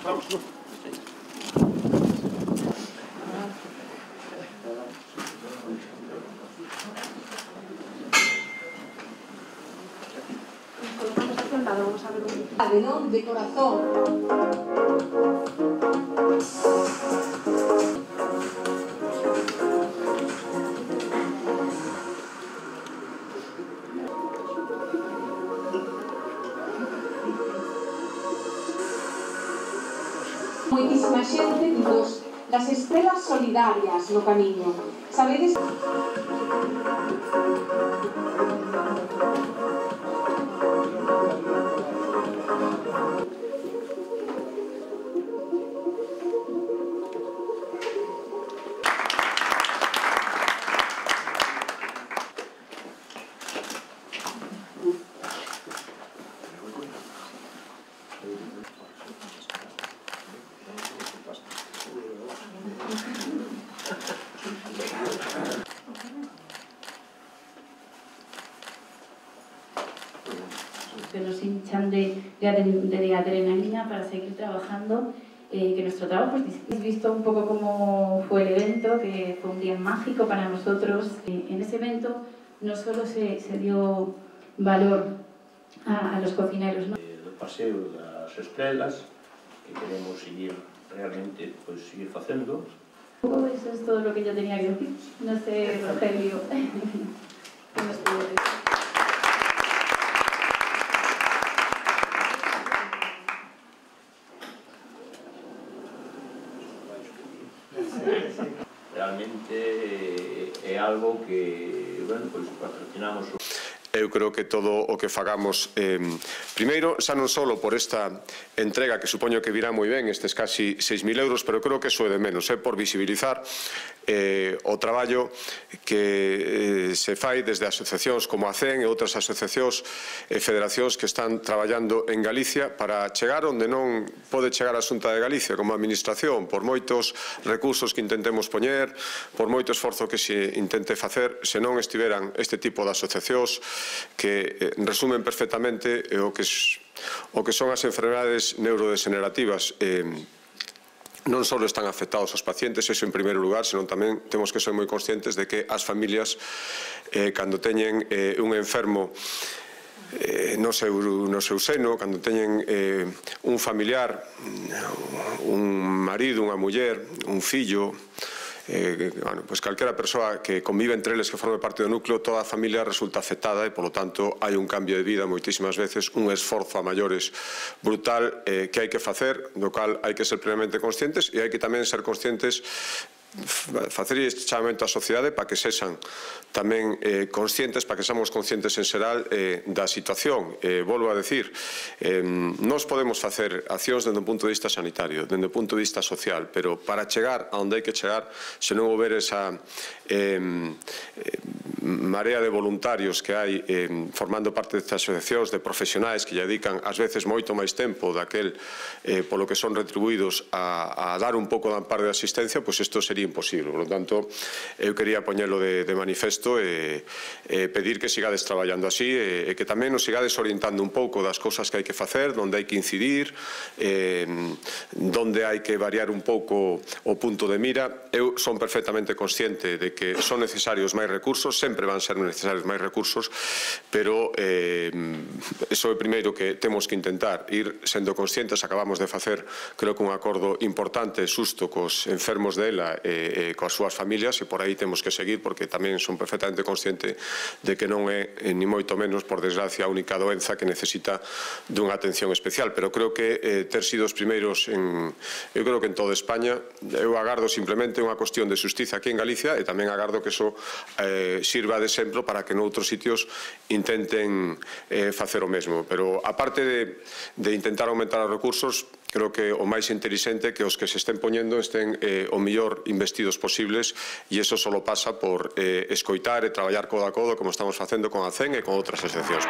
Vamos a ver un de corazón. Moitísima xente das estrelas solidarias no camiño. Sabedes? Que nos hinchan de adrenalina para seguir trabajando, que nuestro trabajo es visto un poco cómo fue el evento, que fue un día mágico para nosotros. En ese evento no solo se dio valor a los cocineros, ¿no? Do paseo das estrelas, que queremos seguir realmente, pues, seguir facendo. Eso es todo lo que yo tenía que decir. No sé, Rogelio, ¿qué nos puede decir? Realmente é algo que, bueno, pois patrocinamos. Eu creo que todo o que fagamos, primeiro, xa non só por esta entrega, que supoño que virá moi ben, estes casi 6.000 euros, pero creo que eso é de menos, por visibilizar o traballo que se fai desde asociacións como a CEN e outras asociacións e federacións que están traballando en Galicia para chegar onde non pode chegar a Xunta de Galicia como administración, por moitos recursos que intentemos poñer, por moito esforzo que se intente facer, se non estiveran este tipo de asociacións que resumen perfectamente o que son as enfermedades neurodegenerativas. Non só están afectados os pacientes, iso en primeiro lugar, senón tamén temos que ser moi conscientes de que as familias, cando teñen un enfermo no seu seno, cando teñen un familiar, un marido, unha muller, un fillo, pues calquera persoa que convive entre eles, que forme parte do núcleo, toda a familia resulta afectada e, polo tanto, hai un cambio de vida moitísimas veces, un esforzo a maiores brutal que hai que facer, do cal hai que ser plenamente conscientes e hai que tamén ser conscientes, facer este chamamento á sociedade para que sexan tamén conscientes, para que seamos conscientes en xeral da situación. Volvo a decir, nós podemos facer accións dende o punto de vista sanitario, dende o punto de vista social, pero para chegar a onde hai que chegar, se non houber esa marea de voluntarios que hai formando parte destas asociacións, de profesionais que lle dedican ás veces moito máis tempo daquel polo que son retribuídos a dar un pouco de amparo de asistencia, pois isto sería imposible. Por lo tanto, eu quería poñelo de manifesto e pedir que sigades traballando así e que tamén nos sigades orientando un pouco das cousas que hai que facer, onde hai que incidir, onde hai que variar un pouco o punto de mira. Eu son perfectamente consciente de que son necesarios máis recursos, sempre van ser necesarios máis recursos, pero iso é o primeiro que temos que intentar, ir sendo conscientes. Acabamos de facer, creo que un acordo importante, xusto cos enfermos de ELA e coas súas familias, e por aí temos que seguir, porque tamén son perfectamente consciente de que non é, ni moito menos, por desgracia, a única doenza que necesita dunha atención especial, pero creo que ter sido os primeiros eu creo que en toda España. Eu agardo simplemente unha cuestión de xustiza aquí en Galicia e tamén agardo que iso sirva de exemplo para que noutros sitios intenten facer o mesmo, pero aparte de intentar aumentar os recursos, creo que o máis intelixente é que os que se estén poñendo estén o mellor investidos posibles, e iso só pasa por escoitar e traballar codo a codo como estamos facendo con a CEN e con outras asociacións.